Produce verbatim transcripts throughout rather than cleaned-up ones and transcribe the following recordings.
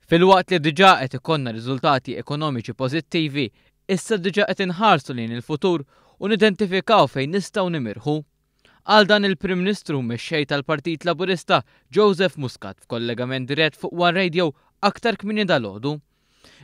Filwaqt li diġà qed ikollna riżultati ekonomiċi pożittivi, issa diġà qed inħarsu lejn il-futur u nidentifikaw fejn nistgħu nimirħu. Qal dan il-Prim Ministru mexxej tal-Partit Laburista Joseph Muscat f'kollegament dirett fuq One Radio aktar kmieni dalgħodu.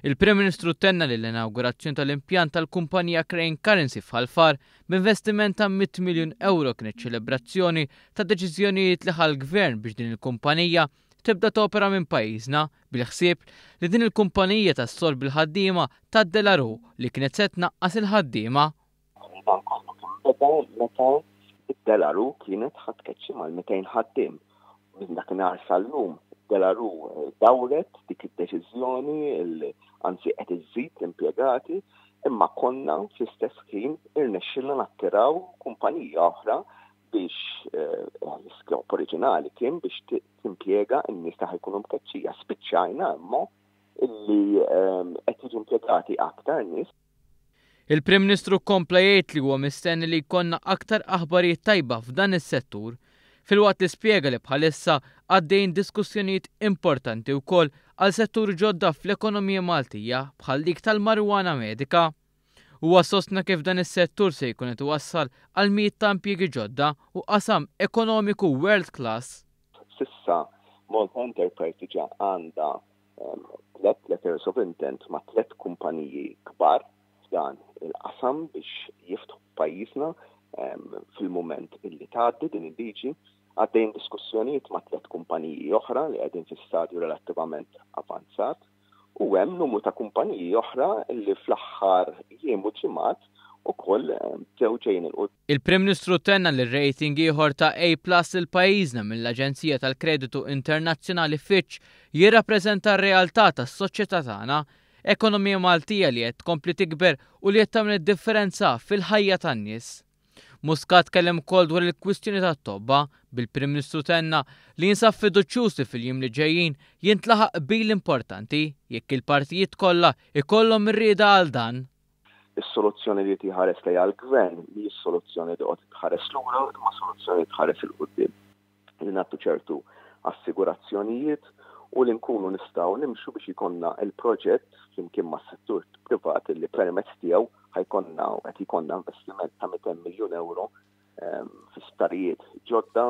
Il-Prim Ministru tenna li l-inaugurazzjoni tal-impjant tal-kumpanija Crane Currency f'Ħal Far b'investiment ta' mitt miljun euro kienet ċelebrazzjoni ta' deċiżjonijiet li ħa l-gvern biex din il-kumpanija tibda topera minn pajjiżna bil-ħsieb li din il-kumpanija tassorbi l-ħaddiema ta' De La Rue li kienet se tnaqqas il-ħaddiema. Dan kollu kien beda meta De La Rue kienet ħa tkeċċi mal-mitejn ħaddiem. Minn dakinhar sal-lum De La Rue dawret dik id-deċiżjoni, anzi qed iżżid l-impjegati, imma konna fl-istess ħin irnexxilna nattiraw kumpanija oħra biex l-iskop oriġinali kien biex timpjega n-nies ta' jkunu mkeċċija. Spiċċajna imma illi qed jiġu impjegati aktar nies. Il-Prim Ministru kompla jgħid li huwa mistenni li jkollna aktar aħbarijiet tajba f'dan is-settur, filwaqt li spjega li bħalissa għaddejn diskussjonijiet importanti wkoll għal settur ġodda fl-ekonomija Maltija bħal dik tal-marijuana medika. Huwa sostna kif dan is-settur se jkun qed iwassal għal mijiet ta' impjiegi ġodda u qasam ekonomiku world class. S'issa Malta Enterprise diġà għandha tliet letters of intent ma' tliet kumpaniji kbar f'dan il-qasam biex jiftħu pajjiżna fil-moment illi tgħaddi din il-liġi. Għaddejn diskussjonijiet ma' tliet kumpaniji oħra li qegħdin fi stadju relattivament avanzat u hemm numru ta' kumpaniji oħra li fl-aħħar jiem u ġimgħat ukoll bdew ġejjin il quddiem. Il-Prim Ministru tenna li r-rating ieħor ta' A plus lil pajjiżna mill-Aġenzija tal-Kreditu Internazzjonali Fitch jirrappreżenta r-realtà tas-soċjetà tagħna, ekonomija Maltija li qed tkompli tikber u li qed tagħmel id-differenza fil-ħajja tan-nies. Muscat kellem ukoll dwar il-kwistjoni tat-tobba, bil-Prim Ministru tenna li jinsab fiduċjuż li fil-jiem li ġejjin jintlaħaq qbil importanti jekk il-partijiet kollha ikollhom ir-rieda għal dan. Is-soluzzjoni li tħares lejha l-gvern mhijiex soluzzjoni li qed tħares lura, imma soluzzjoni tħares 'il quddiem. Li nagħtu ċertu assigurazzjonijiet u li nkunu nistgħu nimxu biex ikollna il-proġett flimkien mas-settur privat li permezz tiegħu ħa jkollna u qed ikollna investiment ta' mitejn miljun euro fi sptarijiet ġodda.